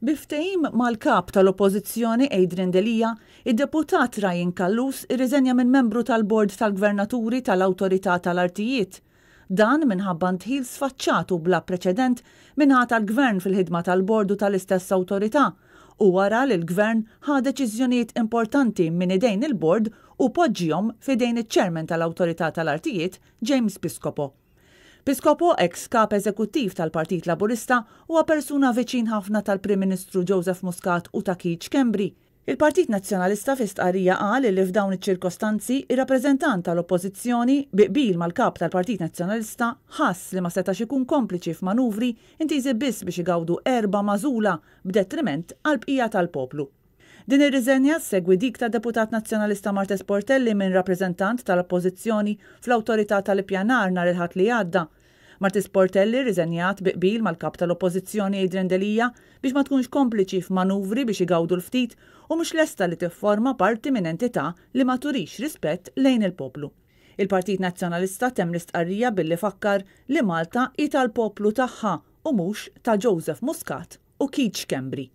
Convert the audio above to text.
Bi ftehim mal-Kap tal-Oppożizzjoni Adrian Delia, id-Deputat Ryan Callus irriżenja minn membru tal-Bord tal-Gvernaturi tal-Awtorità tal-Artijiet. Dan minħabba ndħil sfaċċat u bla preċedent min-naħa tal-Gvern fil-ħidma tal-Bord u tal-istess Awtorità u wara li l-Gvern ħa deċiżjonijiet importanti minn idejn il-Bord u poġġihom f'idejn iċ-Chairman tal-Awtorità tal-Artijiet James Piscopo. Piscopo, eks Kap Eżekuttiv tal-Partit Laburista, huwa persuna viċin ħafna tal-Prim Ministru Joseph Muscat u ta' Keith Schembri. Il-Partit Nazzjonalista fi stqarrija qal illi f'dawn iċ-ċirkostanzi, ir-rappreżentant tal-Oppożizzjoni, bi qbil mal-Kap tal-Partit Nazzjonalista, ħass li ma setax ikun kompliċi f'manuvri intiżi biss biex igawdu erba' magħżula b'detriment għall-bqija tal-poplu. Din ir-riżenja ssegwi dik tad-Deputat Nazzjonalista Marthese Portelli minn rappreżentant tal-Oppożizzjoni fl-Awtorità tal-Ippjanar nhar il-Ħadd li għadda. Marthese Portelli rriżenjat bi qbil mal-Kap tal-Oppożizzjoni Adrian Delia biex ma tkunx kompliċi f'manuvri biex igawdu l-ftit u mhux lesta li tifforma parti minn entità li ma turix rispett lejn il-poplu. Il-Partit Nazzjonalista temm l-istqarrija billi fakkar li Malta hi tal-poplu tagħha u mhux ta' Joseph Muscat u Keith Schembri.